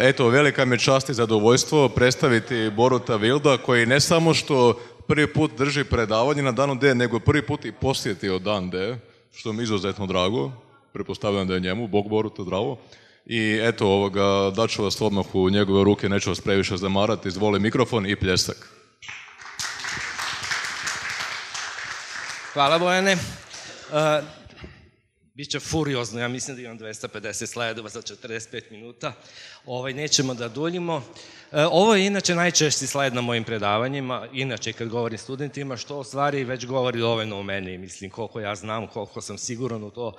Eto, velika mi je čast i zadovoljstvo predstaviti Boruta Vilda, koji ne samo što prvi put drži predavanje na danu D, nego prvi put i posjetio dan D, što mi je izuzetno drago. Pretpostavljam da je njemu, Bog Boruta zdravo. I eto, daću vas odmah u njegove ruke, neću vas previše zamarati, izvoli mikrofon i pljesak. Hvala, Bojane. Biće furiozno, ja mislim da imam 250 slajdova za 45 minuta. Nećemo da duljimo. Ovo je inače najčešći slajd na mojim predavanjima, inače kad govorim studentima, što u stvari već govori dovoljno o meni, mislim koliko ja znam, koliko sam siguran u to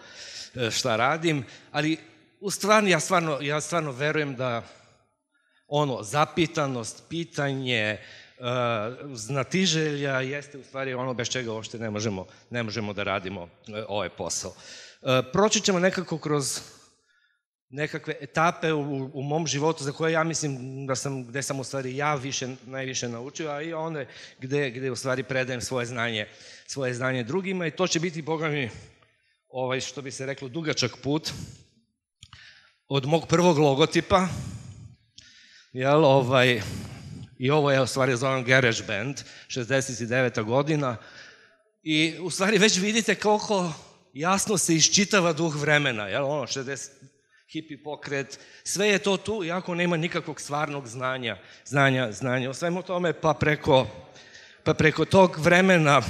šta radim, ali u stvari ja stvarno verujem da zapitanost, pitanje, znatiželja jeste u stvari ono bez čega uopšte ne možemo da radimo ovaj posao. Proći ćemo nekako kroz nekakve etape u mom životu za koje ja mislim gde sam u stvari ja najviše naučio, a i one gde u stvari predajem svoje znanje drugima i to će biti, boga mi, što bi se reklo, dugačak put od mog prvog logotipa, i ovo je u stvari zovem Garage Band, 69. godina, i u stvari već vidite koliko jasno se iščitava duh vremena, 60 hipi pokret, sve je to tu, iako nema nikakvog stvarnog znanja o svemu tome, pa preko tog vremena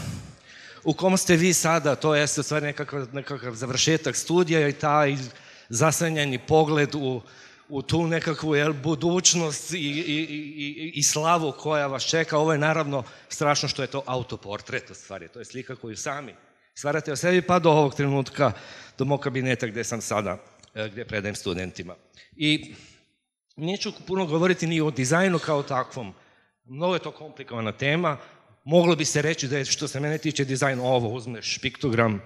u kom ste vi sada, to je u stvari nekakav završetak studija i taj zasanjani pogled u tu nekakvu budućnost i slavu koja vas čeka. Ovo je naravno strašno što je to autoportret u stvari, to je slika koju sami stvarate o sebi pa do ovog trenutka, do mog kabineta gde sam sada, gde predajem studentima. I neću puno govoriti ni o dizajnu kao takvom, mnogo je to komplikovana tema, moglo bi se reći da je što se mene tiče dizajn ovo, uzmeš piktogram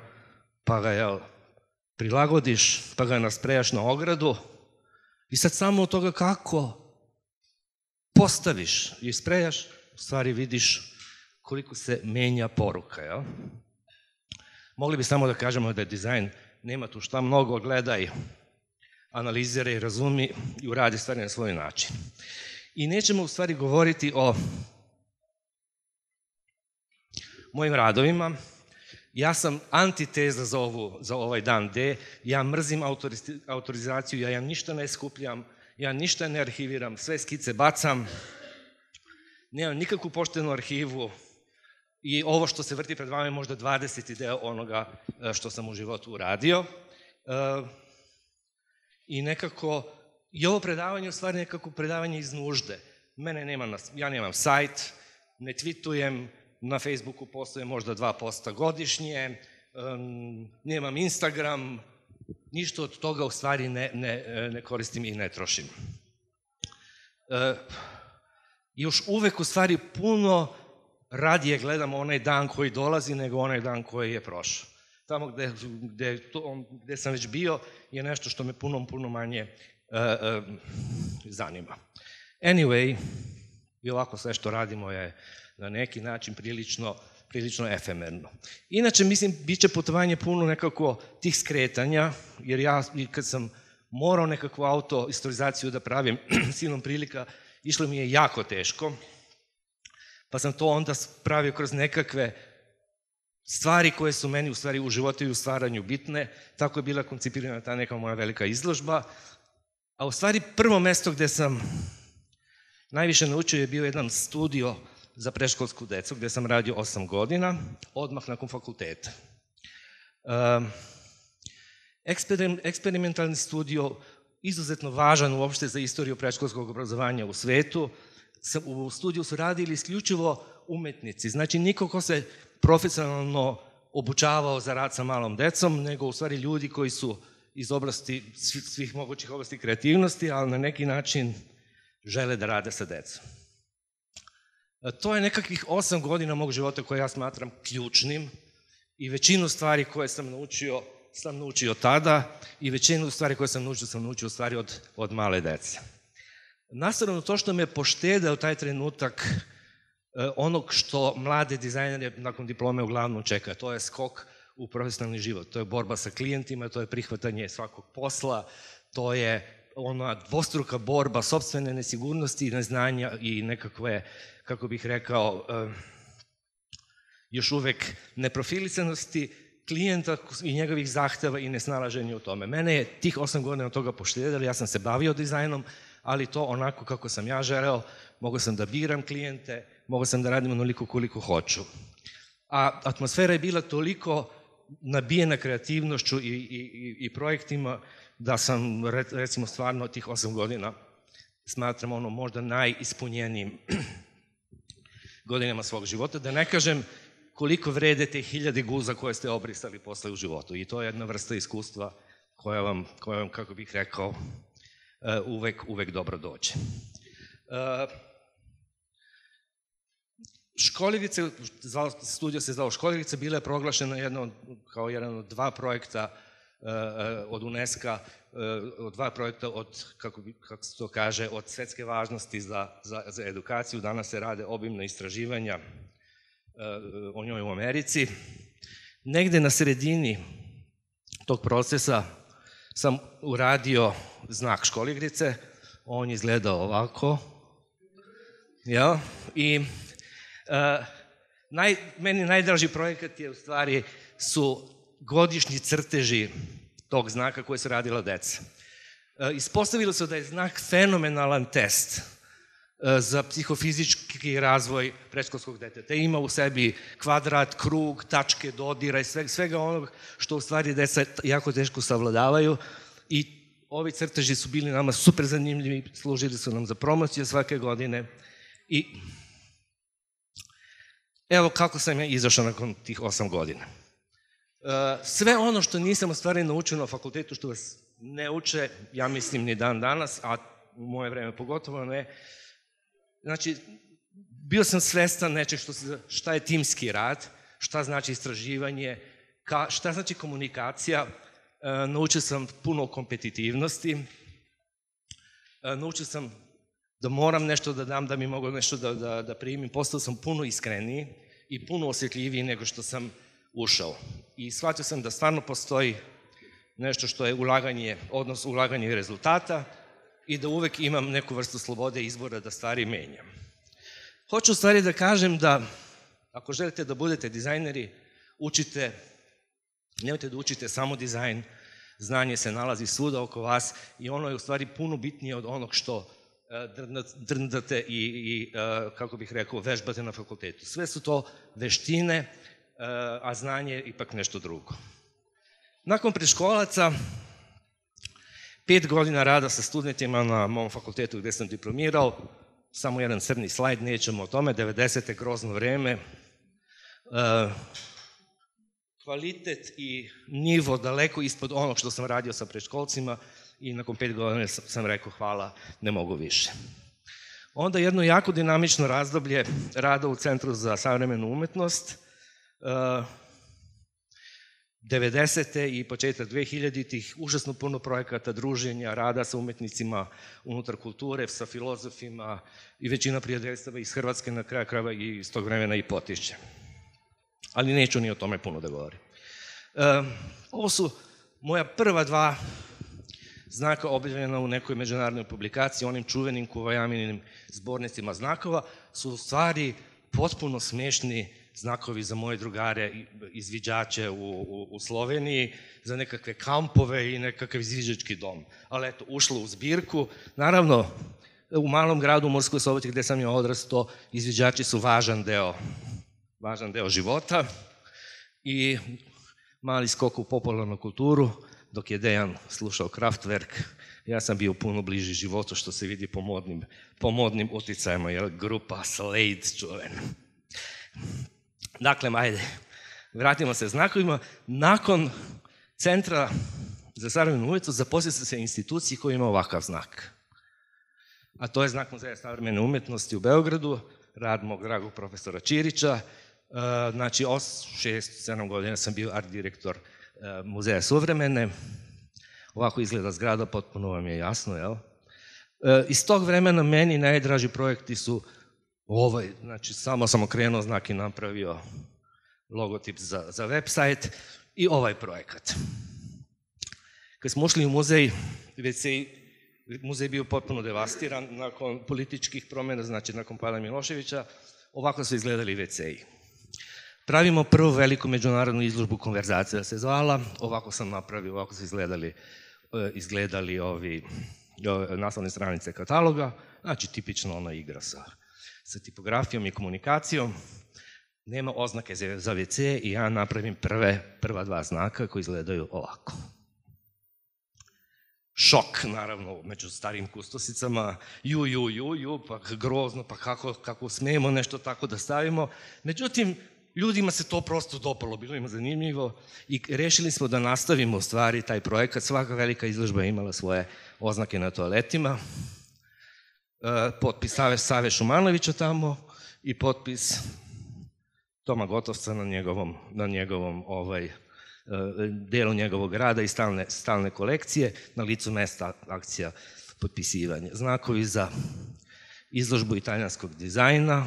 pa ga prilagodiš, pa ga nasprejaš na ogradu i sad samo od toga kako postaviš i sprejaš, u stvari vidiš koliko se menja poruka. Mogli bi samo da kažemo da je dizajn, nema tu šta mnogo, gledaj, analiziraj, razumi i uradi stvari na svoj način. I nećemo u stvari govoriti o mojim radovima. Ja sam antiteza za ovaj dan D, ja mrzim autorizaciju, ja ništa ne skupljam, ja ništa ne arhiviram, sve skice bacam, nemam nikakvu poštenu arhivu i ovo što se vrti pred vama je možda 20. deo onoga što sam u životu uradio. I nekako, i ovo predavanje je u stvari nekako predavanje iz nužde. Ja nemam sajt, ne tweetujem, na Facebooku postoje možda 2 posta godišnje, nemam Instagram, ništa od toga u stvari ne koristim i ne trošim. Još uvek u stvari puno radije gledam onaj dan koji dolazi nego onaj dan koji je prošao. Tamo gde sam već bio je nešto što me puno manje zanima. Anyway, i ovako sve što radimo je na neki način prilično efemerno. Inače, mislim, bit će putovanje puno nekako tih skretanja, jer ja kad sam morao nekakvu autoistorizaciju da pravim silom prilika, išlo mi je jako teško, pa sam to onda pravio kroz nekakve stvari koje su meni u stvari u životu i u stvaranju bitne, tako je bila koncipirana ta neka moja velika izložba, a u stvari prvo mesto gde sam najviše naučio je bio jedan studio za predškolsku decu, gde sam radio 8 godina, odmah nakon fakulteta. Eksperimentalni studio, izuzetno važan uopšte za istoriju predškolskog obrazovanja u svetu. U studiju su radili isključivo umetnici, znači niko ko se profesionalno obučavao za rad sa malom decom, nego u stvari ljudi koji su iz oblasti, svih mogućih oblasti kreativnosti, ali na neki način žele da rade sa decom. To je nekakvih 8 godina mog života koje ja smatram ključnim i većinu stvari koje sam naučio tada i većinu stvari koje sam naučio u stvari od male dece. Nastavno to što me poštedeo taj trenutak onog što mlade dizajnere nakon diplome uglavnom čeka, to je skok u profesionalni život, to je borba sa klijentima, to je prihvatanje svakog posla, to je ona dvostruka borba sopstvene nesigurnosti, neznanja i nekakve, kako bih rekao, još uvek neprofilisanosti klijenta i njegovih zahteva i nesnalaženja u tome. Mene je tih 8 godina od toga poštedjeli, ja sam se bavio dizajnom, ali to onako kako sam ja želeo, mogao sam da biram klijente, mogao sam da radim onoliko koliko hoću. A atmosfera je bila toliko nabijena kreativnošću i projektima da sam, recimo, stvarno tih 8 godina smatram možda najispunjenijim godinama svog života, da ne kažem koliko vrede te 1000 guza koje ste obrisali posle u životu. I to je jedna vrsta iskustva koja vam, kako bih rekao, uvek dobro dođe. Školjevice, studio se zvao Školjevice, bila je proglašena kao jedan od 2 projekta od UNESCO-a, od 2 projekta od, kako se to kaže, od svetske važnosti za edukaciju. Danas se rade obimna istraživanja o njoj u Americi. Negde na sredini tog procesa sam uradio znak Školjigrice, on je izgledao ovako, i meni najdraži projekat je, u stvari, su godišnji crteži tog znaka koje su radila deca. Ispostavilo se da je znak fenomenalan test za psihofizički razvoj predškolskog deteta. Ima u sebi kvadrat, krug, tačke, dodira i svega onog što u stvari deca jako teško savladavaju, i ovi crteži su bili nama super zanimljivi, služili su nam za promociju svake godine. I evo kako sam ja izašao nakon tih 8 godina. Sve ono što nisam u stvari naučio na fakultetu, što vas ne uče, ja mislim, ni dan danas, a u moje vreme pogotovo ne. Znači, bio sam svestan nečeg šta je timski rad, šta znači istraživanje, šta znači komunikacija. Naučio sam puno o kompetitivnosti, naučio sam da moram nešto da dam, da mi mogu nešto da primim. Postao sam puno iskreniji i puno osjetljiviji nego što sam ušao. I shvatio sam da stvarno postoji nešto što je ulaganje rezultata i da uvek imam neku vrstu slobode izbora da stvari menjam. Hoću u stvari da kažem da ako želite da budete dizajneri, nemojte da učite samo dizajn, znanje se nalazi svuda oko vas i ono je u stvari puno bitnije od onog što drndate i, kako bih rekao, vežbate na fakultetu. Sve su to veštine, a znanje je ipak nešto drugo. Nakon predškolaca, 5 godina rada sa studentima na mom fakultetu gde sam diplomirao, samo jedan crni slajd, nećemo o tome, 90. grozno vreme, kvalitet i nivo daleko ispod onog što sam radio sa predškolcima i nakon 5 godina sam rekao hvala, ne mogu više. Onda jedno jako dinamično razdoblje rada u Centru za savremenu umetnost, 90. i početak 2000-ih, užasno puno projekata, druženja, rada sa umetnicima unutar kulture, sa filozofima i većina prijateljstava iz Hrvatske, na kraju krajeva i iz tog vremena i Potišće. Ali neću ni o tome puno da govorim. Ovo su moja prva 2 znaka objavljena u nekoj međunarodnoj publikaciji, onim čuvenim Kuvajaminim zbornicima znakova, su u stvari potpuno smešni znakovi za moje drugare, izviđače u Sloveniji, za nekakve kampove i nekakav izviđački dom. Ali eto, ušlo u zbirku. Naravno, u malom gradu u Murskoj Soboti gde sam ja odrastao, izviđači su važan deo života i mali skok u popularnu kulturu, dok je Dejan slušao Kraftwerk, ja sam bio puno bliži životu, što se vidi po modnim uticajima, jer grupa Slade čuvena. Dakle, ajde, vratimo se znakovima. Nakon Centra za savremenu umetnost zaposlio sam se instituciji koja ima ovakav znak. A to je znak Muzeja savremene umetnosti u Beogradu, rad mog dragog profesora Ćirića. Znači, 6-7 godina sam bio art direktor Muzeja suvremene. Ovako izgleda zgrada, potpuno vam je jasno, jel? Iz tog vremena meni najdraži projekti su ovaj, znači samo sam okrenuo znak i napravio logotip za website i ovaj projekat. Kad smo ušli u muzej, već se Muzej je bio potpuno devastiran nakon političkih promjena, znači nakon pada Miloševića. Ovako su izgledali WC-i. Pravimo prvu veliku međunarodnu izložbu Konverzacija se zvala, ovako sam napravio, ovako su izgledali ovi naslovne stranice kataloga, znači tipično ona igra sa tipografijom i komunikacijom. Nema oznake za WC i ja napravim prva dva znaka koji izgledaju ovako. Šok, naravno, među starim kustosicama, pa grozno, pa kako smijemo nešto tako da stavimo. Međutim, ljudima se to prosto dopalo, bilo im zanimljivo i rešili smo da nastavimo u stvari taj projekat. Svaka velika izložba je imala svoje oznake na toaletima. Potpis Save Šumanovića tamo i potpis Toma Gotovca na njegovom delu njegovog rada i stalne kolekcije, na licu mesta akcija potpisivanja. Znakovi za izložbu italijanskog dizajna,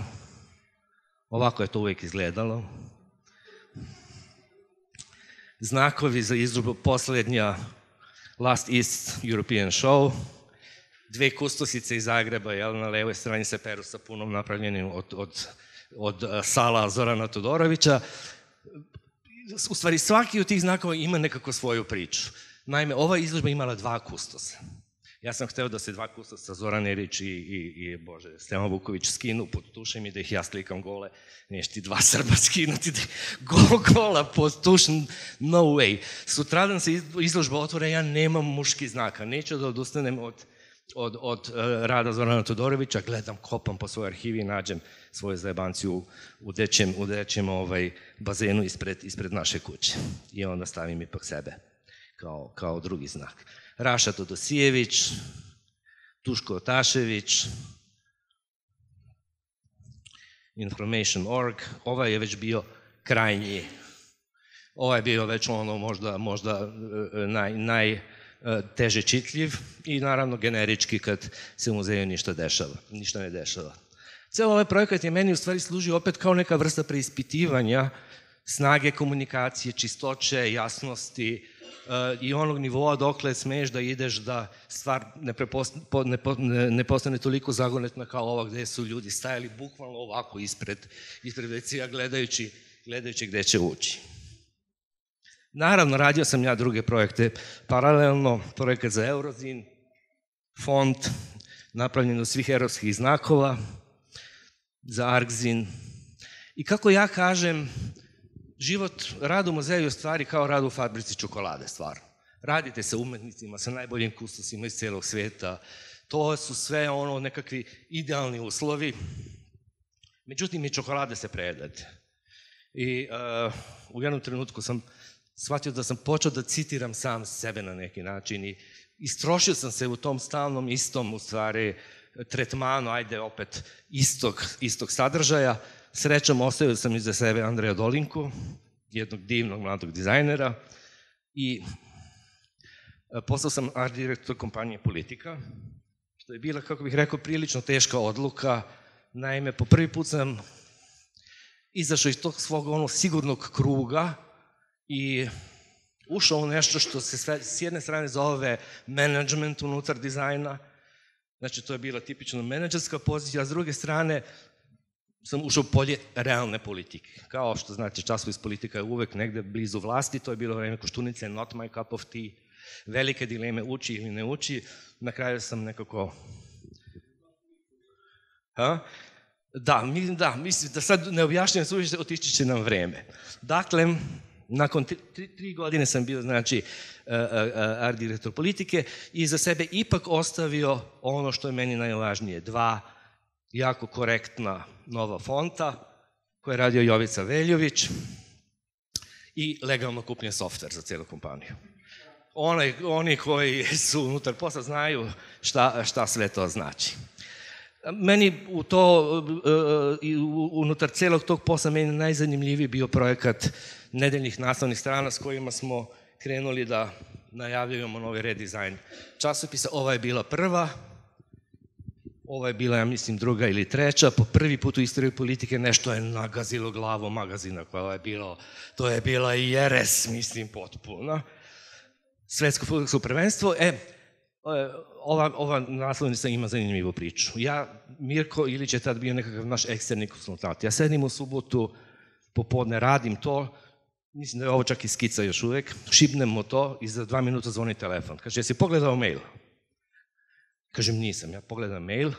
ovako je to uvijek izgledalo. Znakovi za izložbu posljednja Last East European Show, dve kustosice iz Zagreba, na levoj strani se peru sa punom napravljenim od sala Zorana Todorovića. U stvari, svaki od tih znakova ima nekako svoju priču. Naime, ova izložba imala dva kustosa. Ja sam hteo da se dva kustosa, Zoran Erić i Stevan Vuković, skinu pod tušem i da ih ja slikam gole. Neš ti dva Srba skinuti, gola pod tušem, no way. Sutradan se izložba otvore, ja nemam muški znaka, neću da odustanem od rada Zorana Todorovića, gledam, kopam po svojoj arhivi i nađem svoju zajebanciju u dećem bazenu ispred naše kuće. I onda stavim ipak sebe kao drugi znak. Raša Todosijević, Duško Otašević, Information.org, ovaj je već bio krajnji. Ovaj je bio već možda najteže čitljiv i naravno generički kad se u muzeju ništa ne dešava. Ceo ovaj projekat je meni u stvari služio opet kao neka vrsta preispitivanja snage komunikacije, čistoće, jasnosti i onog nivoa dokle smeš da ideš da stvar ne postane toliko zagonetna kao ova gde su ljudi stajali bukvalno ovako ispred WC-a gledajući gde će ući. Naravno, radio sam ja druge projekte paralelno, projekat za Eurozin, font, napravljen od svih europskih znakova, za Argzin. I kako ja kažem, rad u muzeju je stvari kao rad u fabrici čokolade, stvarno. Radite sa umetnicima, sa najboljim kustosima iz celog sveta, to su sve nekakvi idealni uslovi, međutim i čokolade se prejedate. I u jednom trenutku sam shvatio da sam počeo da citiram sam sebe na neki način i istrošio sam se u tom stalnom istom, u stvari, tretmanu, ajde opet, istog sadržaja. Srećom, ostavio sam iza sebe Andreja Dolinku, jednog divnog mladog dizajnera i postao sam art direktor kompanije Politika, što je bila, kako bih rekao, prilično teška odluka. Naime, po prvi put sam izašao iz tog svog sigurnog kruga i ušao u nešto što se s jedne strane zove management unutar dizajna, znači to je bila tipično menadžerska pozicija, a s druge strane sam ušao u polje realne politike. Kao što znate, časopis Politika je uvek negde blizu vlasti, to je bilo vreme Koštunice, not my cup of tea, velike dileme uči ili ne uči, na kraju sam nekako... Da, mislim da sad ne objašnjam suviše, otići će nam vreme. Dakle, nakon 3 godine sam bio, znači, art direktor Politike i za sebe ipak ostavio ono što je meni najvažnije, 2 jako korektna nova fonta koje je radio Jovica Veljović i legalno kupljen softver za cijelu kompaniju. Oni koji su unutar posla znaju šta sve to znači. Meni unutar celog tog posla meni najzanimljiviji bio projekat nedeljnih naslovnih strana s kojima smo krenuli da najavljujemo novi redizajn časopisa. Ova je bila prva, ova je bila, ja mislim, 2. ili 3. Po prvi put u istoriji Politike nešto je nagazilo glavu magazina, to je bila i jeres, mislim, potpuno. Svetsko fudbalsko prvenstvo. ova naslovnica ima zanimljivu priču. Mirko Ilić je tad bio nekakav naš eksterni konsultant. Ja sedim u subotu, popodne radim to, mislim da je ovo čak i skica još uvek, šibnem mu to i za 2 minuta zvoni telefon. Kaže, jesi pogledao mail? Kažem, nisam. Ja pogledam mail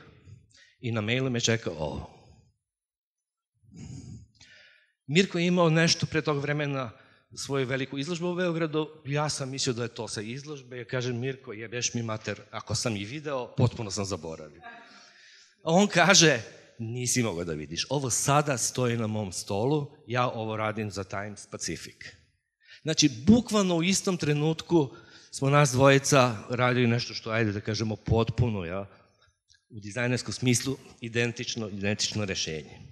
i na mailu me čeka ovo. Mirko je imao nešto pre tog vremena svoju veliku izložbu u Beogradu, ja sam mislio da je to sa izložbe, kažem, Mirko, jebeš mi mater, ako sam i video, potpuno sam zaboravio. A on kaže, nisi mogao da vidiš, ovo sada stoji na mom stolu, ja ovo radim za Times Pacific. Znači, bukvalno u istom trenutku smo nas dvojica radili nešto što, ajde da kažemo, potpuno, ja, u dizajnerskom smislu, identično rešenje.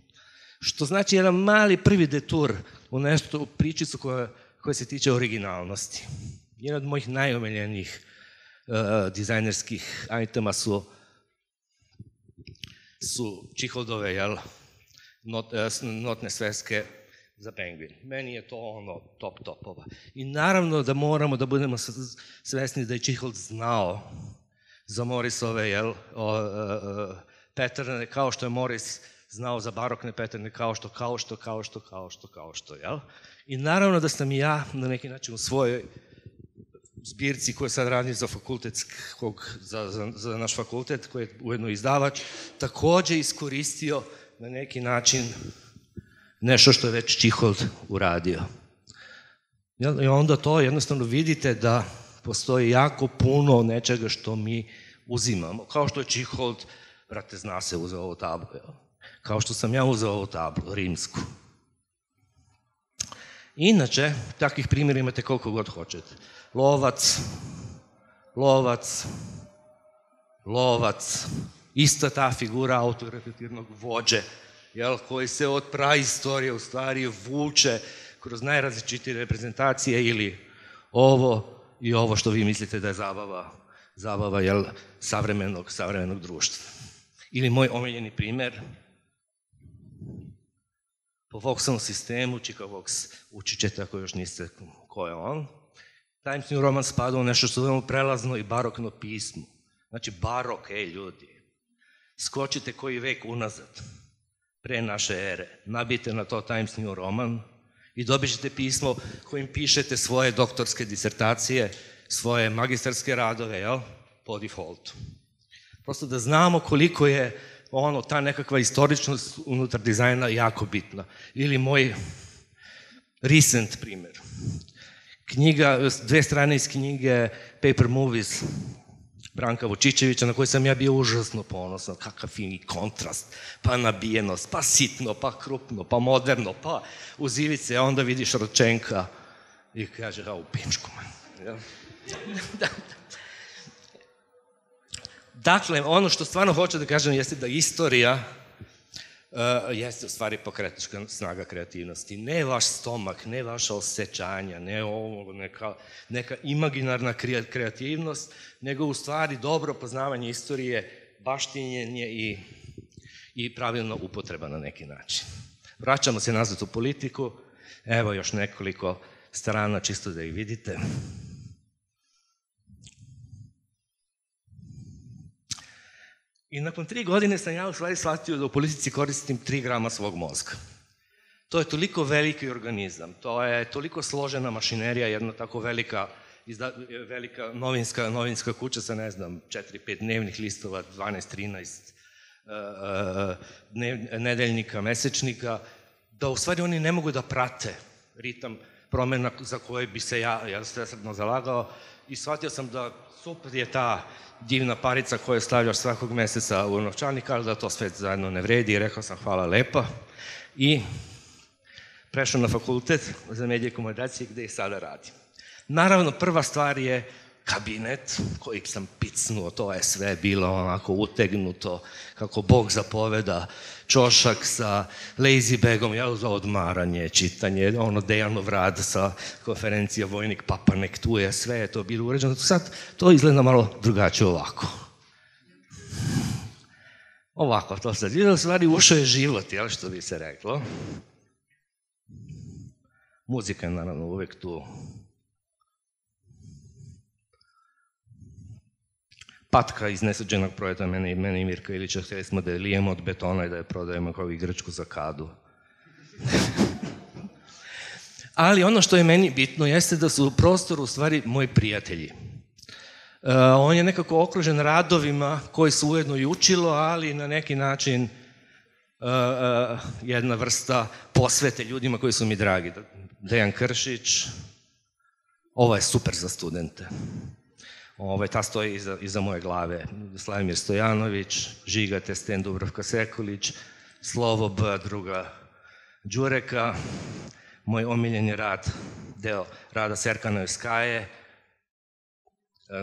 Što znači jedan mali prvi detur u nešto, u pričicu koja se tiče originalnosti. Jedan od mojih najomiljenijih dizajnerskih itema su Čiholdove, jel, notne sveske za Penguin. Meni je to ono top topova. I naravno da moramo da budemo svesni da je Čihold znao za Morrisove, jel, patterne, kao što je Morris znao za barokne patterne, kao što, jel? I naravno da sam i ja na neki način u svojoj zbirci koju sad radim za naš fakultet, koji je ujedno izdavač, takođe iskoristio na neki način nešto što je već Čihold uradio. I onda to jednostavno vidite da postoji jako puno nečega što mi uzimamo. Kao što je Čihold, brate, zna se, uzeo ovu tablu, jel? Kao što sam ja uzeo ovu tablu, rimsku. Inače, takvih primjera imate koliko god hoćete. Lovac, ista ta figura autoreflektivnog vođe, koji se od praistorije u stvari vuče kroz najrazličitije reprezentacije ili ovo i ovo što vi mislite da je zabava savremenog društva. Ili moj omiljeni primer, po Voxovom sistemu, Chicago Vox, učit ćete ako još niste ko je on. Times New Roman spada u nešto što zovemo prelazno i barokno pismo. Znači barok, ljudi, skočite koji vek unazad, pre naše ere, nabijte na to Times New Roman i dobit ćete pismo kojim pišete svoje doktorske disertacije, svoje magistarske radove, jel, po defaultu. Prosto da znamo koliko je ta nekakva istoričnost unutar dizajna jako bitna. Ili moj recent primer. Knjiga, 2 strane iz knjige Paper Movies Branka Vučićevića, na koji sam ja bio užasno ponosan, kakav fini kontrast, pa nabijenost, pa sitno, pa krupno, pa moderno, pa uz ivice, a onda vidiš Ročenka i kaže, u pičku, man. Dakle, ono što stvarno hoću da kažem jeste da istorija jeste u stvari pokretačka snaga kreativnosti. Ne vaš stomak, ne vaša osjećanja, ne ovo, neka imaginarna kreativnost, nego u stvari dobro poznavanje istorije, baštinjenje i pravilna upotreba na neki način. Vraćamo se nazad u politiku. Evo još nekoliko strana, čisto da ih vidite. I nakon 3 godine sam ja u stvari shvatio da u politici koristim 3 grama svog mozga. To je toliko veliki organizam, to je toliko složena mašinerija, jedna tako velika novinska kuća sa, 4-5 dnevnih listova, 12-13 nedeljnika, mesečnika, da u stvari oni ne mogu da prate ritam promena za koje bi se ja svesrdno zalagao i shvatio sam da super je ta divna parica koju stavljaš svakog meseca u novčanik, ali da to sve zajedno ne vredi i rekao sam hvala lepa i prešao na fakultet za medije i komunikacije gde i sada radim. Naravno, prva stvar je kabinet koji sam picnuo, to je sve bilo onako utegnuto, kako Bog zapoveda, čošak sa lazy bagom, za odmaranje, čitanje, Dejanov rad sa konferencija Vojnik Papanek, tu je, sve je to bilo uređeno. Sad to izgleda malo drugačije ovako. Ovako, to sad izgleda, u stvari ušao je život, što bi se reklo. Muzika je naravno uvek tu. patka iz nesuđenog projekta, mene i Mirka Ilića, htjeli smo da je lijemo od betona i da je prodajemo kao igračku za kadu. Ali ono što je meni bitno jeste da su u prostoru u stvari moji prijatelji. On je nekako okružen radovima koji su ujedno i učilo, ali na neki način jedna vrsta posvete ljudima koji su mi dragi. Dejan Kršić, ovo je super za studente. Ta stoji iza moje glave. Slavimir Stojanović, Žiga Testen, Dubravka Sekulić, Slovo B, druga Đureka, moj omiljeni rad, deo rada Serkana Joskaje.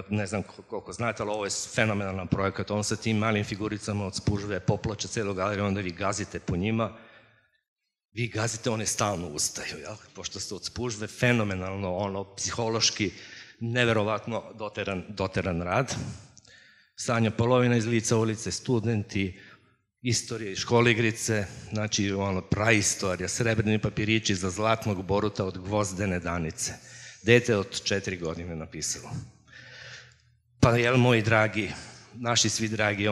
Ne znam koliko znate, ali ovo je fenomenalan projekat. On sa tim malim figuricama od spužve poploče celu galeriju, onda vi gazite po njima. Vi gazite, one stalno ustaju, jel? Pošto ste od spužve, fenomenalno, psihološki, neverovatno doteran rad. Sanja Polovina iz Lica ulice, studenti, istorije i školigrice, znači praistorija, srebrni papirići za zlatnog boruta od Gvozdene Danice. Dete od 4 godine napisalo. Pa jel, moji dragi, naši svi dragi,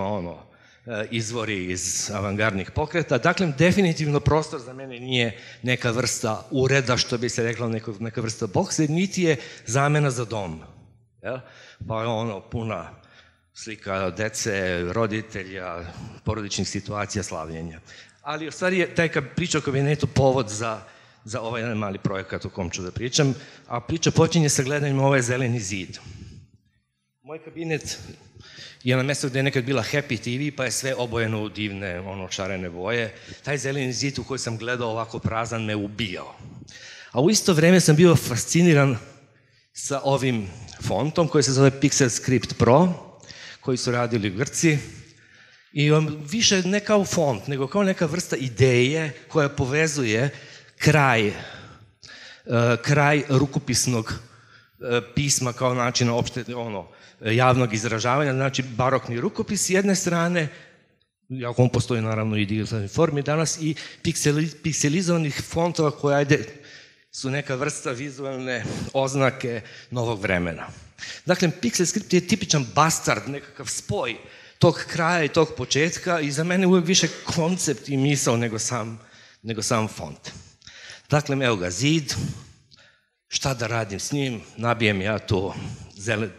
izvori iz avangardnih pokreta. Dakle, definitivno prostor za mene nije neka vrsta ureda, što bi se rekla, neka vrsta boksa, niti je zamena za dom. Pa je puna slika dece, roditelja, porodičnih situacija, slavljenja. Ali u stvari je taj priča o kabinetu povod za ovaj jedan mali projekat o kom ću da pričam, a priča počinje sa gledanjem ovaj zeleni zid. Moj kabinet je na mjestu gdje je nekad bila Happy TV, pa je sve obojeno u divne, šarene boje. Taj zeleni zid u koji sam gledao ovako prazan me ubijao. A u isto vrijeme sam bio fasciniran sa ovim fontom koji se zove Pixel Script Pro, koji su radili Grci. I više ne kao font, nego kao neka vrsta ideje koja povezuje kraj rukopisnog pisma kao načina opšte, javnog izražavanja, znači barokni rukopis s jedne strane, iako on postoji naravno i digitalnoj formi danas, i pikselizovanih fontova koje su neka vrsta vizualne oznake novog vremena. Dakle, Pixel Script je tipičan bastard, nekakav spoj tog kraja i tog početka i za mene uvijek više koncept i misao nego sam font. Dakle, evo ga zid, šta da radim s njim, nabijem ja tu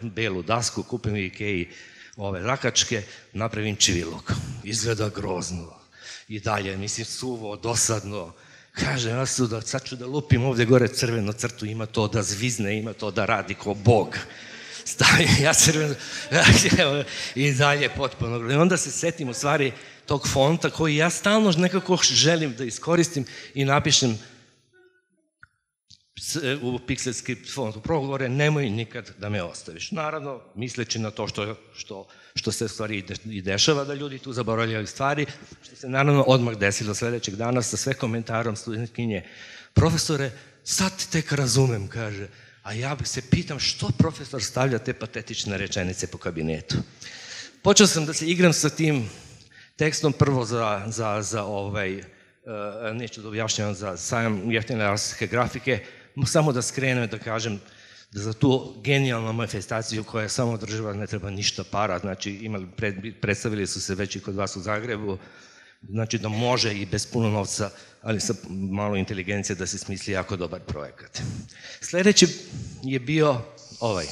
belu dasku, kupim u Ikeji ove rakačke, napravim čivilog. Izgleda grozno. I dalje, mislim, suvo, dosadno. Kažem, ja sad ću da lupim ovdje gore crvenu crtu, ima to da zvizne, ima to da radi ko Bog. Stavim ja crvenu, i dalje potpuno. I onda se setim u stvari tog fonta koji ja stalno nekako želim da iskoristim i napišem u Pixel Script fontu. Prvo govore, nemoj nikad da me ostaviš. Naravno, misleći na to što se u stvari i dešava, da ljudi tu zaboravljaju stvari, što se naravno odmah desilo sljedećeg dana sa sve komentarom studentkinje. Profesore, sad tek razumem, kaže, a ja se pitam što profesor stavlja te patetične rečenice po kabinetu. Počeo sam da se igram sa tim tekstom prvo neću da objašnjavam za sajam jeftine artske grafike, samo da skrenem da kažem da za tu genijalnu manifestaciju koja je samo održiva ne treba ništa para, znači predstavili su se već i kod vas u Zagrebu, znači da može i bez puno novca, ali sa malo inteligencije da se smisli jako dobar projekat. Sljedeći je bio ovaj.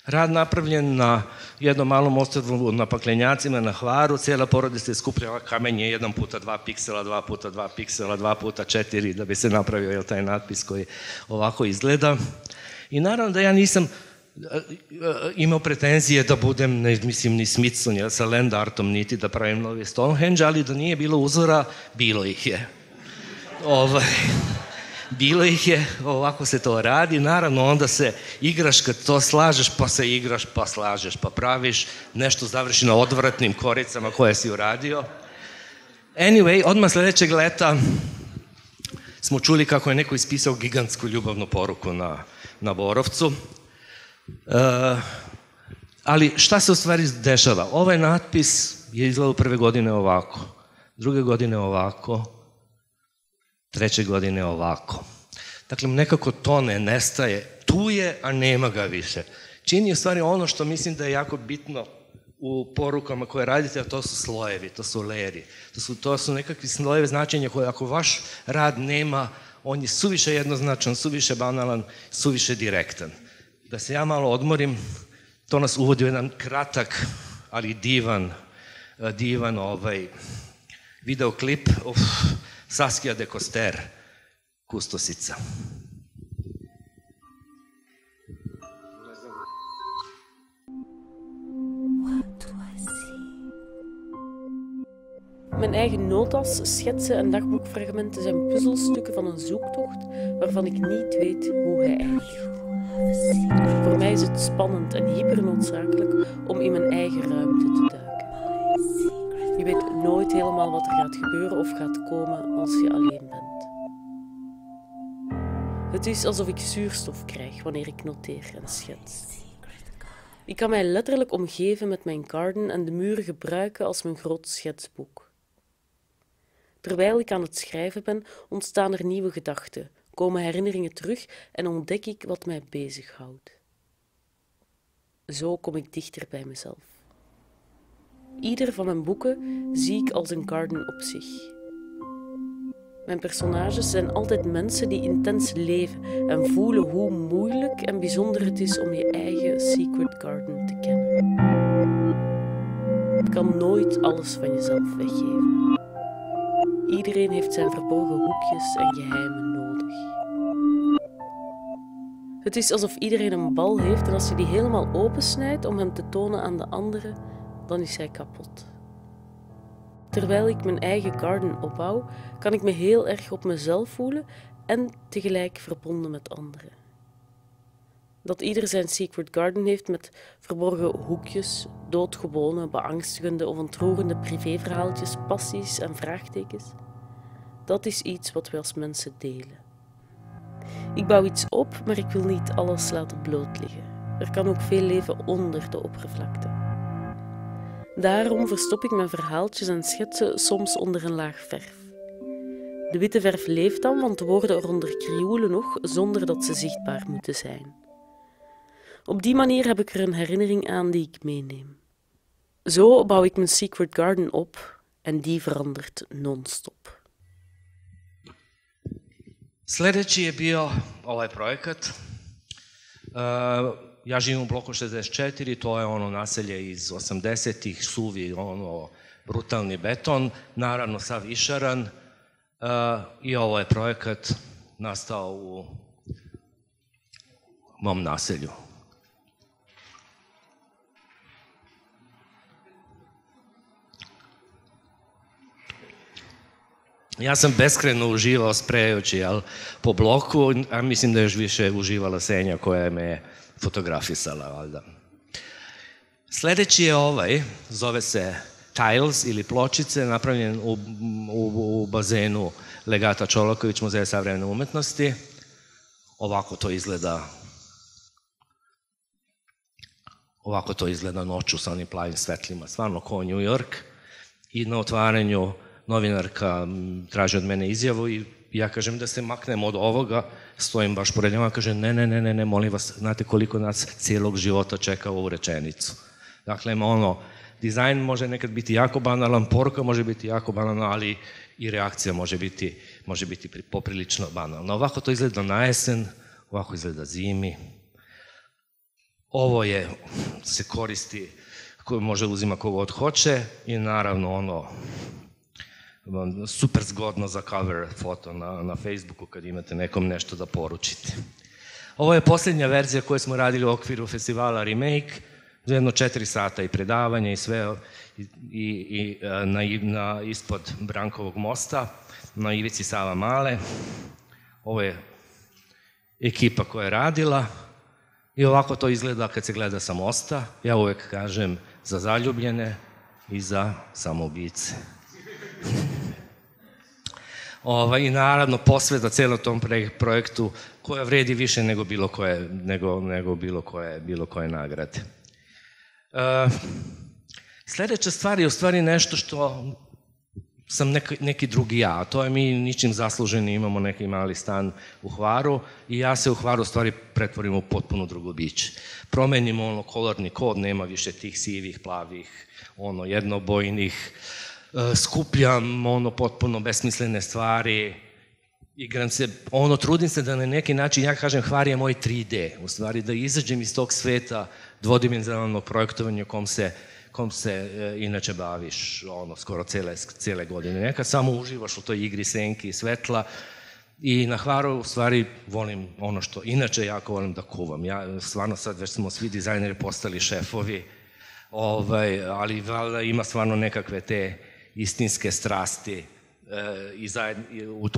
Rad napravljen na jednom malom ostrvu na Paklenjacima, na Hvaru, cijela porodica je skupljala kamenje 1x2 piksela, 2x2 piksela, 2x4, da bi se napravio taj natpis koji ovako izgleda. I naravno da ja nisam imao pretenzije da budem, mislim, ni Smithson sa land artom, niti da pravim novi Stonehenge, ali da nije bilo uzora, bilo ih je. bilo ih je, ovako se to radi, naravno onda se igraš kad to slažeš, pa se igraš, pa slažeš, pa praviš, nešto završi na odvratnim koricama koje si uradio. Anyway, odmah sljedećeg leta smo čuli kako je neko ispisao gigantsku ljubavnu poruku na Borovcu. Ali šta se u stvari dešava? Ovaj natpis je izgledao prve godine ovako, druge godine ovako, treće godine ovako. Dakle, nekako to ne nestaje. Tu je, a nema ga više. Čini u stvari ono što mislim da je jako bitno u porukama koje radite, a to su slojevi, to su layeri. To su nekakvi slojevi značenja koje ako vaš rad nema, on je suviše jednoznačan, suviše banalan, suviše direktan. Da se ja malo odmorim, to nas uvodi u jedan kratak, ali divan videoklip Saskia de Coster, Kustosica. Mijn eigen notas, schetsen en dagboekfragmenten zijn puzzelstukken van een zoektocht waarvan ik niet weet hoe hij eindigt. Voor mij is het spannend en hypernoodzakelijk om in mijn eigen ruimte te duiken. Je weet nooit helemaal wat er gaat gebeuren of gaat komen als je alleen bent. Het is alsof ik zuurstof krijg wanneer ik noteer en schets. Ik kan mij letterlijk omgeven met mijn garden en de muren gebruiken als mijn groot schetsboek. Terwijl ik aan het schrijven ben, ontstaan er nieuwe gedachten, komen herinneringen terug en ontdek ik wat mij bezighoudt. Zo kom ik dichter bij mezelf. Ieder van mijn boeken zie ik als een garden op zich. Mijn personages zijn altijd mensen die intens leven en voelen hoe moeilijk en bijzonder het is om je eigen secret garden te kennen. Je kan nooit alles van jezelf weggeven. Iedereen heeft zijn verborgen hoekjes en geheimen nodig. Het is alsof iedereen een bal heeft en als je die helemaal opensnijdt om hem te tonen aan de anderen, dan is hij kapot. Terwijl ik mijn eigen garden opbouw, kan ik me heel erg op mezelf voelen en tegelijk verbonden met anderen. Dat ieder zijn secret garden heeft met verborgen hoekjes, doodgewone, beangstigende of ontroerende privéverhaaltjes, passies en vraagtekens, dat is iets wat we als mensen delen. Ik bouw iets op, maar ik wil niet alles laten bloot liggen. Er kan ook veel leven onder de oppervlakte. Daarom verstop ik mijn verhaaltjes en schetsen soms onder een laag verf. De witte verf leeft dan, want de woorden eronder krioelen nog, zonder dat ze zichtbaar moeten zijn. Op die manier heb ik er een herinnering aan die ik meeneem. Zo bouw ik mijn secret garden op en die verandert non-stop. Sljedeći je bio ovaj projekat. Ja živim u bloku 64, to je ono naselje iz 80-ih, suvi, ono, brutalni beton, naravno sav išaran. I ovo je projekat nastao u mom naselju. Ja sam beskreno uživao sprejajući po bloku, a mislim da je još više uživala Senja koja me je fotografisala, valjda. Sljedeći je ovaj, zove se Tiles ili pločice, napravljen u bazenu Legata Čolaković, Muzeja savremene umetnosti. Ovako to izgleda noću sa onim plavim svetlima, stvarno kao New York. I na otvaranju novinarka traži od mene izjavu i ja kažem da se maknem od ovoga, stojim baš pored njega, kaže ne, molim vas, znate koliko nas cijelog života čeka ovu rečenicu. Dakle, dizajn može nekad biti jako banalan, poruka može biti jako banalna, ali i reakcija može biti poprilično banalna. Ovako to izgleda na jesen, ovako izgleda zimi. Ovo se koristi, koju može uzima kogod hoće i naravno super zgodno za cover foto na Facebooku kad imate nekom nešto da poručite. Ovo je posljednja verzija koju smo radili u okviru festivala Remake, za jedno 4 sata i predavanje i sve ispod Brankovog mosta, na ivici Sava Male. ovo je ekipa koja je radila i ovako to izgleda kad se gleda sa mosta. Ja uvek kažem za zaljubljene i za samoubice. I naravno posveta celom tom projektu koja vredi više nego bilo koje nagrade. Sljedeća stvar je u stvari nešto što sam neki drugi ja, a to je mi ničim zasluženi imamo neki mali stan u Hvaru i ja se u Hvaru u stvari pretvorim u potpuno drugo biće. Promenimo kolorni kod, nema više tih sivih, plavih, jednobojnih, skupljam potpuno besmislene stvari, igram se, trudim se da na neki način, ja kažem Hvar je moj 3D, u stvari da izađem iz tog sveta dvodimenzionalnog projektovanja kom se inače baviš skoro cele godine. Nekad samo uživaš u toj igri senki i svetla i na Hvaru u stvari volim ono što inače jako volim da kuvam. Ja stvarno sad već smo svi dizajneri postali šefovi, ali valjda ima stvarno nekakve te istinske strasti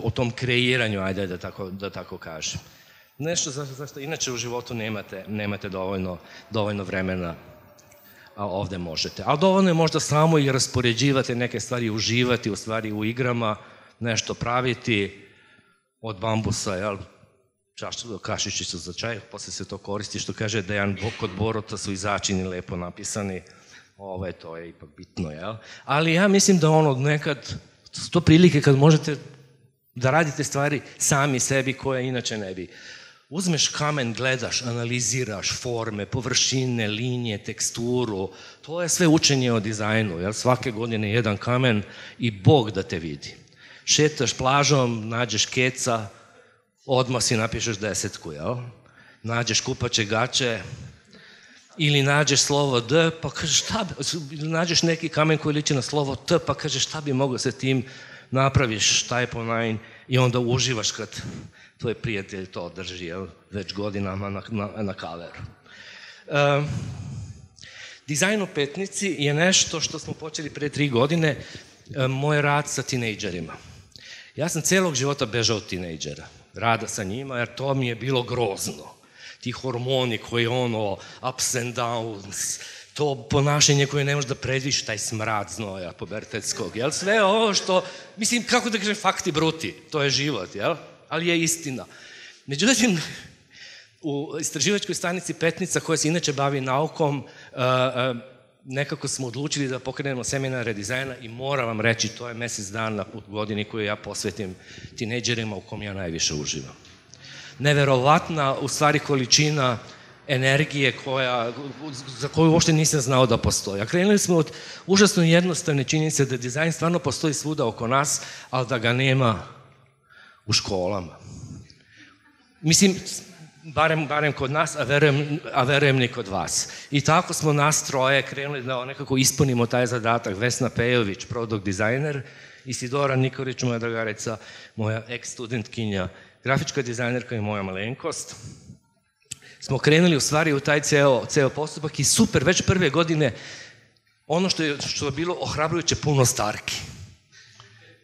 u tom kreiranju, ajde da tako kažem. Nešto zašto inače u životu nemate dovoljno vremena, a ovde možete. Ali dovoljno je možda samo i raspoređivati neke stvari, uživati u stvari u igrama, nešto praviti od bambusa, kašičicu za čaj, posle se to koristi, što kaže Dejan, kod Borota su i začini lepo napisani, to je ipak bitno, jel? Ali ja mislim da nekad su to prilike kad možete da radite stvari sami sebi koje inače ne bi. Uzmeš kamen, gledaš, analiziraš forme, površine, linije, teksturu, to je sve učenje o dizajnu, jel? Svake godine jedan kamen i Bog da te vidi. Šetaš plažom, nađeš keca, odmah si napišeš 10, jel? Nađeš kupaće gaće, ili nađeš slovo D, pa kažeš šta bi, nađeš neki kamen koji liči na slovo T, pa kažeš šta bi mogao sa tim, napraviš type online i onda uživaš kad tvoj prijatelj to drži, već godinama na kaveru. Dizajn u Petnici je nešto što smo počeli pre 3 godine, moj rad sa tinejdžerima. Ja sam celog života bežao od tinejdžera, rada sa njima, jer to mi je bilo grozno. Ti hormoni koji ups and downs, to ponašanje koje ne možeš da predviš, taj smrad znoja pubertetskog, jel? Sve ovo što, mislim, kako da kažem, fakti bruti, to je život, jel? Ali je istina. Međutim, u istraživačkoj stanici Petnica, koja se inače bavi naukom, nekako smo odlučili da pokrenemo seminare dizajna i moram vam reći, to je mesec dana u godini koju ja posvetim tinejdžerima u kom ja najviše uživam. Neverovatna, u stvari, količina energije za koju uopšte nisam znao da postoji. A krenuli smo od užasno jednostavne činjenice da dizajn stvarno postoji svuda oko nas, ali da ga nema u školama. Mislim, barem kod nas, a verujem ni kod vas. I tako smo nas troje krenuli da nekako ispunimo taj zadatak. Vesna Pejović, product dizajner, Isidora Nikolić, moja dragarica, moja ex-studentkinja, grafička dizajnerka i moja malenkost. Smo krenuli u stvari u taj ceo postupak i super, već prve godine ono što je bilo ohrabrujuće puno starki.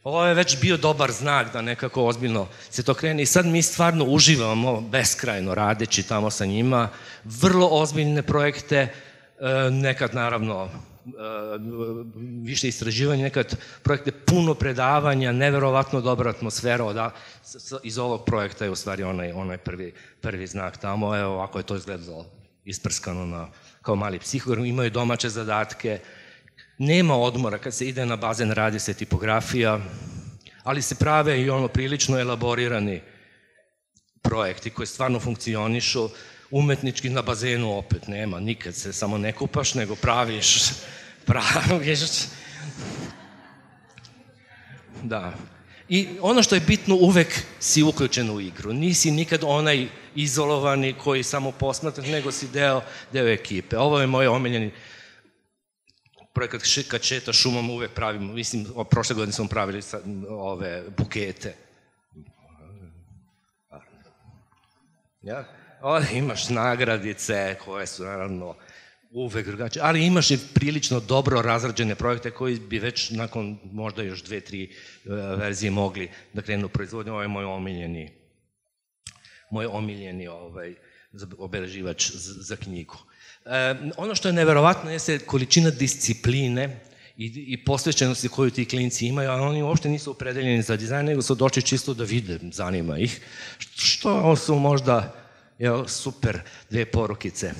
Ovo je već bio dobar znak da nekako ozbiljno se to krene i sad mi stvarno uživamo beskrajno radeći tamo sa njima, vrlo ozbiljne projekte, nekad naravno više istraživanja, nekad projekte puno predavanja, neverovatno dobra atmosfera, iz ovog projekta je u stvari onaj prvi znak tamo, evo ovako je to izgledalo isprskano kao mali psihogram, imaju domaće zadatke, nema odmora, kad se ide na bazen radi se tipografija, ali se prave i prilično elaborirani projekti koji stvarno funkcionišu, umetnički na bazenu opet nema, nikad se samo ne kupaš, nego praviš. Da. I ono što je bitno, uvek si uključen u igru. Nisi nikad onaj izolovani koji samo posmatra, nego si deo ekipe. Ovo je moj omiljeni projekat, kad šeta šumom uvek pravimo, mislim, prošle godine smo pravili ove bukete. Ja? Ovdje imaš nagradice koje su naravno uvek drugačije, ali imaš i prilično dobro razrađene projekte koji bi već nakon možda još 2-3 verzije mogli da krenu u proizvodnju. Ovo je moj omiljeni moj omiljeni obeleživač za knjigu. Ono što je neverovatno jeste količina discipline i posvećenosti koju ti klinci imaju, a oni uopšte nisu opredeljeni za dizajn, nego su došli čisto da vide, zanima ih. Što su možda super dve porukice.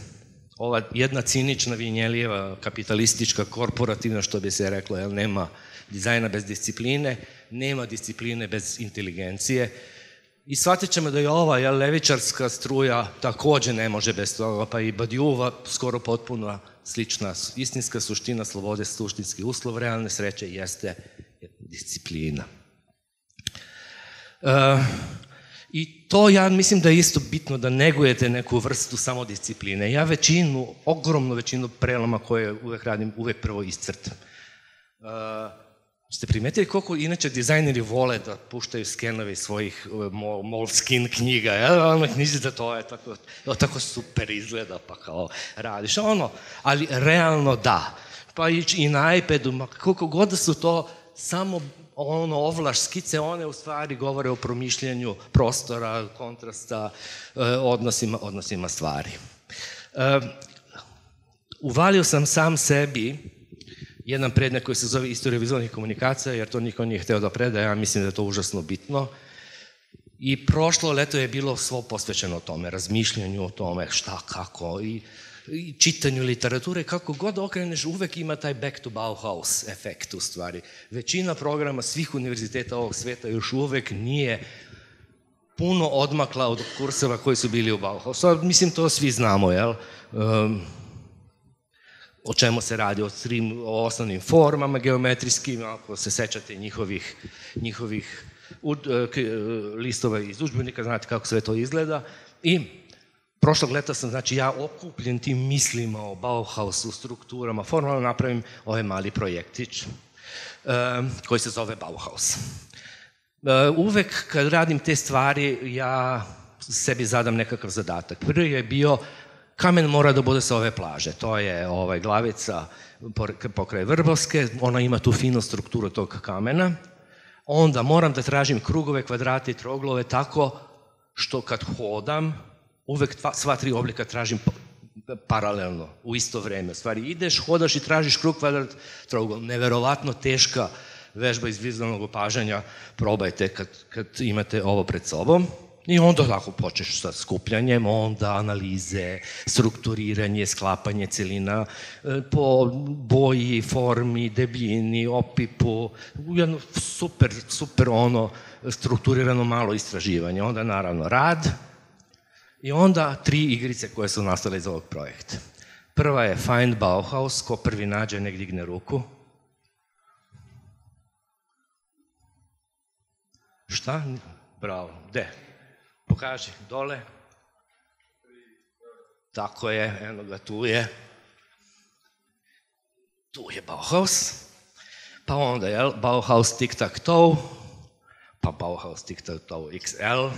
Ova jedna cinična, vinjelijeva, kapitalistička, korporativna, što bi se reklo, nema dizajna bez discipline, nema discipline bez inteligencije. I shvatit ćemo da je ova levičarska struja takođe ne može bez toga, pa i Badiouva skoro potpuno slična. Istinska suština slobode, suštinski uslov realne sreće jeste disciplina. I to ja mislim da je isto bitno da negujete neku vrstu samodiscipline. Ja ogromnu većinu preloma koje uvek radim, uvek prvo iscrtam. Ste primetili koliko inače dizajneri vole da puštaju skenove iz svojih Moleskine knjiga, ono knjižica to je tako super izgleda, pa kao radiš, ali realno da. Pa i na iPadu, koliko god da su to samo ovlaš skice, one u stvari govore o promišljanju prostora, kontrasta, odnosima stvari. Uvalio sam sam sebi jedan predmet koji se zove Istorija vizualnih komunikacija, jer to niko nije hteo da predaje, ja mislim da je to užasno bitno. I prošlo leto je bilo svo posvećeno tome, razmišljanju o tome šta, kako, i čitanju literature, kako god okreneš, uvek ima taj back to Bauhaus efekt u stvari. Većina programa svih univerziteta ovog sveta još uvek nije puno odmakla od kurseva koji su bili u Bauhausu. Mislim, to svi znamo, jel? O čemu se radi, o osnovnim formama geometrijskim, ako se sećate njihovih listova iz udžbenika, znate kako sve to izgleda. I prošlog leta sam, znači ja okupljen tim mislima o Bauhausu, strukturama, formalno napravim ovaj mali projektić koji se zove Bauhaus. Uvek kad radim te stvari, ja sebi zadam nekakav zadatak. Prvi je bio kamen mora da bude sa ove plaže. To je glavica pokraj Vrbovske, ona ima tu finu strukturu tog kamena. Onda moram da tražim krugove, kvadrate i troglove tako što kad hodam, uvek sva tri oblika tražim paralelno, u isto vreme. U stvari, ideš, hodaš i tražiš krug, kvadrat, trougao. Neverovatno teška vežba iz vizualnog opažanja, probajte kad imate ovo pred sobom. I onda tako počneš sa skupljanjem, onda analize, strukturiranje, sklapanje celina po boji, formi, debljini, opipu, jedno super strukturirano malo istraživanje. Onda naravno rad i onda 3 igrice koje su nastale iz ovog projekta. Prva je Find Bauhaus, ko prvi nađe, nek digne ruku. Šta? Bravo. Gde? Pokaži, dole. Tako je, eno ga, tu je. Tu je Bauhaus. Pa onda, jel, Bauhaus Tic-Tac-Toe, pa Bauhaus Tic-Tac-Toe XL,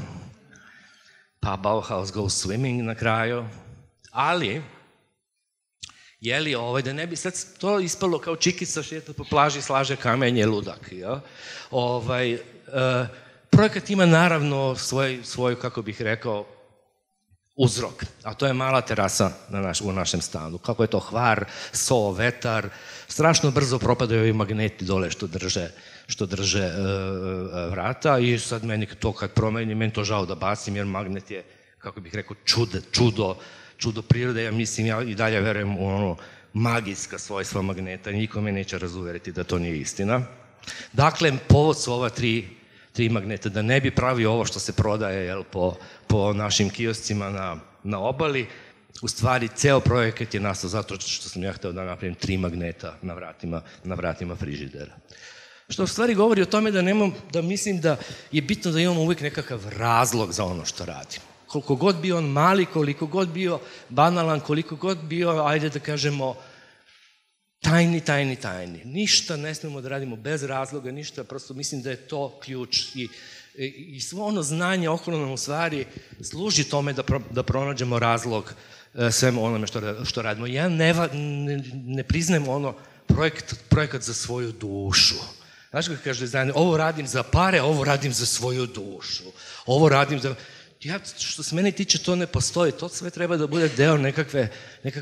pa Bauhaus Go Swimming na kraju. Ali, jeli, da ne bi sad to ispalo kao čikica šeta po plaži, slaže kamenje, ludak, jel? Projekat ima naravno svoj, kako bih rekao, uzrok, a to je mala terasa u našem stanu. Kako je to hvar, so, vetar, strašno brzo propadaju ovi magneti dole što drže vrata i sad meni to kad promenim, meni to žao da bacim jer magnet je, kako bih rekao, čudo prirode. Ja mislim, ja i dalje verujem u ono magijska svojstva magneta i niko me neće razuveriti da to nije istina. Dakle, povod su ova tri magneta, da ne bi pravio ovo što se prodaje po našim kioscima na obali. U stvari, ceo projekat je nastao zato što sam ja hteo da napravim 3 magneta na vratima frižidera. Što u stvari govori o tome da mislim da je bitno da imamo uvijek nekakav razlog za ono što radimo. Koliko god bio on mali, koliko god bio banalan, koliko god bio, ajde da kažemo, tajni. Ništa ne smemo da radimo bez razloga, ništa, prosto mislim da je to ključ i svo ono znanje okolo nam u stvari služi tome da pronađemo razlog svemu onome što radimo. Ja ne priznajem ono projekat za svoju dušu. Znaš kako kaže dizajner, ovo radim za pare, ovo radim za svoju dušu. Ovo radim za... što se meni tiče, to ne postoji. To sve treba da bude deo nekakve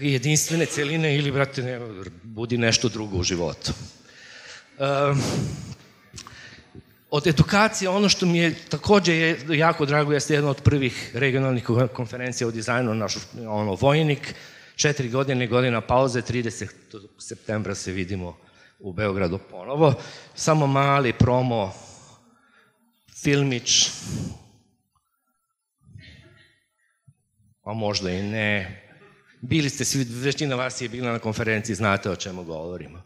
jedinstvene celine ili, brate, budi nešto drugo u životu. Od edukacije, ono što mi je također jako drago, jeste jedna od prvih regionalnih konferencija o dizajnu, naš vojnik, 4 godine, godina pauze, 30. septembra se vidimo u Beogradu ponovo. Samo mali promo, filmić, a možda i ne. Bili ste svi, većina vas je bila na konferenciji, znate o čemu govorimo.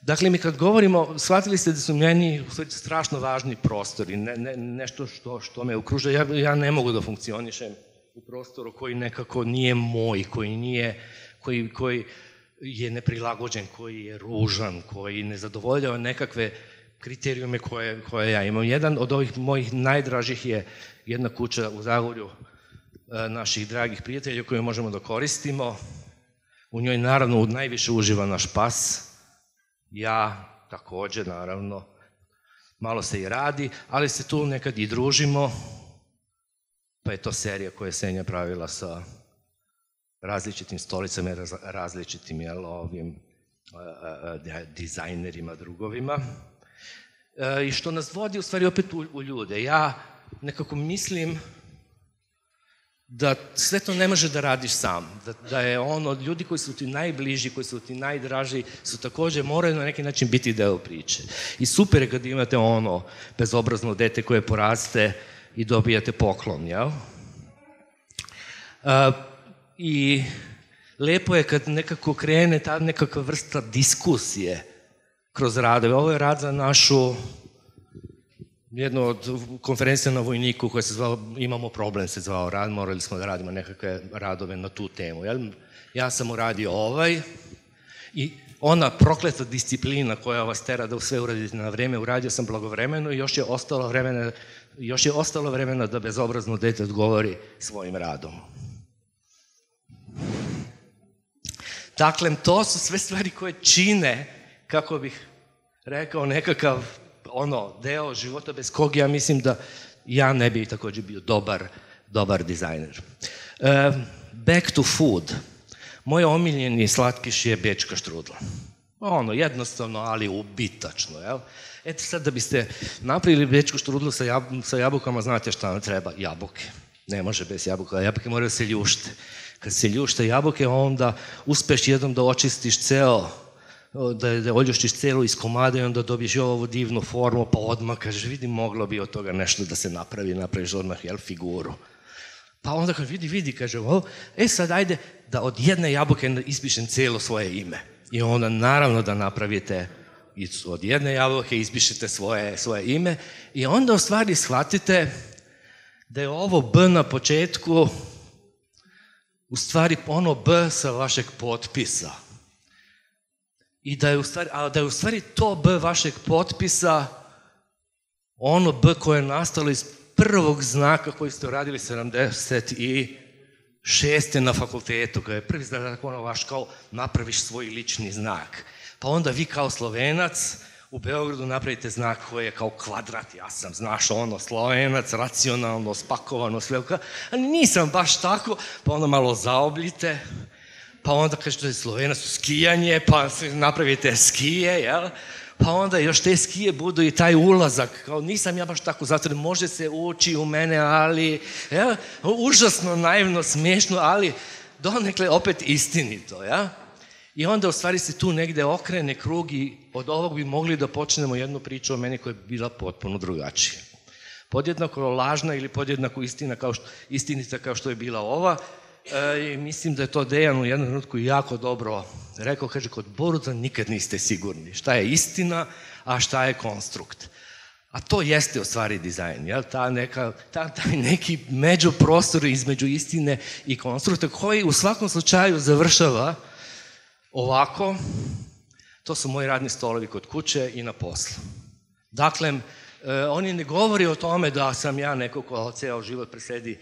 Dakle, mi kad govorimo, shvatili ste da su meni strašno važni prostori, nešto što me okružuje. Ja ne mogu da funkcionišem u prostoru koji nekako nije moj, koji je neprilagođen, koji je ružan, koji ne zadovoljava nekakve kriterijume koje ja imam. Jedan od ovih mojih najdražih je jedna kuća u Zagorju naših dragih prijatelja koju možemo da koristimo. U njoj naravno najviše uživa naš pas. Ja također, naravno, malo se i radi, ali se tu nekad i družimo, pa je to serija koja je Senja pravila sa različitim stolicama i različitim dizajnerima, drugovima. I što nas vodi u stvari opet u ljude. Ja nekako mislim da sve to ne može da radiš sam, da je ljudi koji su ti najbliži, koji su ti najdraži, su također moraju na neki način biti deo priče. I super je kad imate bezobrazno dete koje poraste i dobijate poklon, jel? I lepo je kad nekako krene ta nekakva vrsta diskusije kroz radove. Ovo je rad za našu jednu od konferencija na Vojniku koja se zvao Imamo problem, se zvao rad, morali smo da radimo nekakve radove na tu temu. Ja sam uradio i ona prokleta disciplina koja vas tera da sve uradite na vreme, uradio sam blagovremeno i još je ostalo vremena da bezobrazno dete odgovori svojim radom. Dakle, to su sve stvari koje čine, kako bih rekao, nekakav deo života bez kog ja mislim da ja ne bi također bio dobar dizajner. Back to food. Moj omiljeni slatkiš je bečka štrudla. Jednostavno, ali ubitačno. Eto sad da biste napravili bečku štrudlu sa jabukama, znate šta vam treba? Jabuke. Ne može bez jabuka. Jabuke moraju se ljušte. Kad se ljušte jabuke, onda uspeš jednom da očistiš da oljuštiš celu iz komada i onda dobiješ ovu divnu formu, pa odmah kažeš, vidi, moglo bi od toga nešto da se napraviš odmah, figuru. Pa onda kad vidi, kaže, sad ajde da od jedne jabuke ispišem cijelo svoje ime. I onda naravno da napravite od jedne jabuke, ispišete svoje ime i onda u stvari shvatite da je ovo B na početku u stvari B sa vašeg potpisa. I da je u stvari to B vašeg potpisa ono B koje je nastalo iz prvog znaka koji ste uradili 76. na fakultetu, koji je prvi znak vaš kao napraviš svoj lični znak. Pa onda vi kao Slovenac u Beogradu napravite znak koji je kao kvadrat, ja sam, znaš, Slovenac, racionalno, spakovano, sve, ali nisam baš tako, pa onda malo zaobljite, pa onda kažete Slovenac skijanje, pa napravite skije, jel? Pa onda još te skije budu i taj ulazak, kao nisam ja baš tako zatvoren, može se ući u mene, ali, jel? Užasno, naivno, smiješno, ali donekle opet istinito, jel? I onda u stvari se tu negde okrene krug i od ovog bi mogli da počnemo jednu priču o meni koja je bila potpuno drugačija. Podjednako lažna ili podjednako istinita kao što je bila ova. I mislim da je to Dejan u jednom trenutku jako dobro rekao, kaže, kod Boruta nikad niste sigurni šta je istina, a šta je konstrukt. A to jeste u stvari dizajn, jel? Taj neki međuprostor između istine i konstrukta koji u svakom slučaju završava ovako. To su moji radni stolovi kod kuće i na poslu. Dakle, oni ne govori o tome da sam ja neko ko ceo život presedi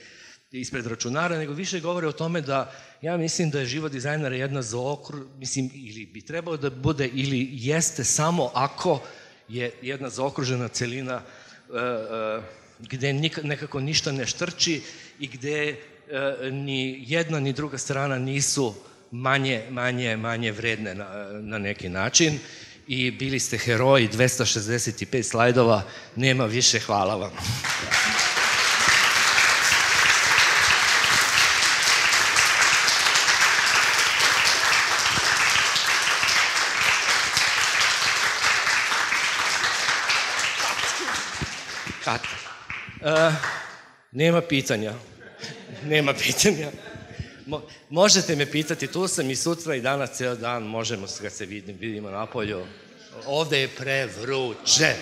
ispred računara, nego više govore o tome da ja mislim da je život dizajnera jedna ili bi trebao da bude, ili jeste samo ako je jedna zaokružena celina gde nekako ništa ne štrči i gde ni jedna ni druga strana nisu manje vredne na neki način. I bili ste heroji, 265 slajdova, nema više, hvala vam. Nema pitanja. Nema pitanja. Možete me pitati, tu sam i sutra i danas ceo dan, možemo kad se vidimo napolju. Ovde je prevruće.